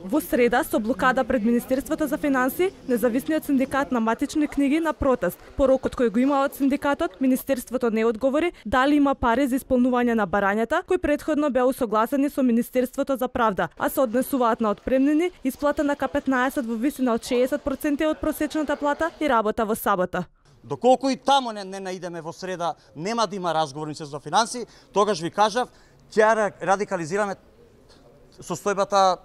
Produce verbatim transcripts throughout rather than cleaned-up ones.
Во среда, со блокада пред Министерството за финансии, независниот синдикат на матични книги на протест. По рокот кој го има од синдикатот, Министерството не одговори дали има пари за исполнување на барањата, кои претходно беа усогласени со Министерството за правда, а се однесуваат на отпремнини, исплата на ка петнаесет во висина од шеесет проценти од просечната плата и работа во сабота. Доколку и таму не, не наидеме во среда, нема да има разговорници за финансии, тогаш ви кажав, ќе радикализираме состојбата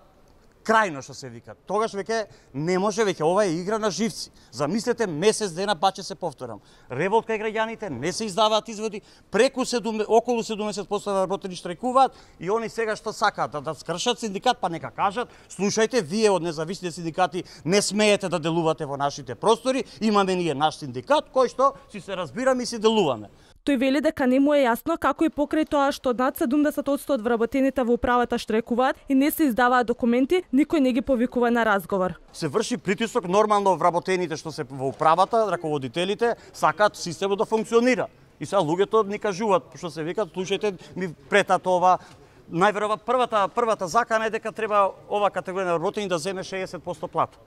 крајно, што се вика. Тогаш веќе не може, веќе ова е игра на живци. Замислете, месец дена паче се повторам. Револт кај граѓаните, не се издаваат изводи, преку седум, околу седумдесет проценти работени штрajкуваат и они сега што сакаат да, да скршат синдикат, па нека кажат, слушајте, вие од независните синдикати не смеете да делувате во нашите простори, имаме ние наш синдикат кој што си се разбираме и си делуваме. Тој вели дека не му е јасно како и покрај тоа што над седумдесет проценти од вработените во управата штрajкуваат и не се издаваат документи, никој не ги повикува на разговор. Се врши притисок нормално вработените што се во управата, раководителите сакаат системот да функционира. И сега луѓето ни кажуваат што се викат, слушајте, ми претат ова. Најверојатно првата првата закана е дека треба ова категорија на вработени да земе шеесет проценти плата.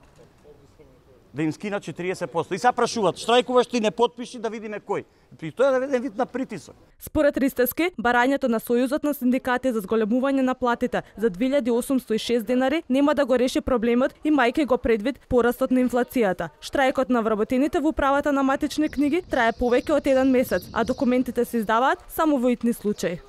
Да им скинат четириесет проценти. И сега прашуваат, штрајкуваш ти, не потпиши, да видиме кој. При тоа е еден вид на притисок. Според Ристевски, барањето на Сојузот на синдикати за зголемување на платите за две илјади осумстотини и шест денари нема да го реши проблемот, имајќи го предвид порастот на инфлацијата. Штрајкот на вработените во управата на матични книги трае повеќе од еден месец, а документите се издаваат само во итни случаи.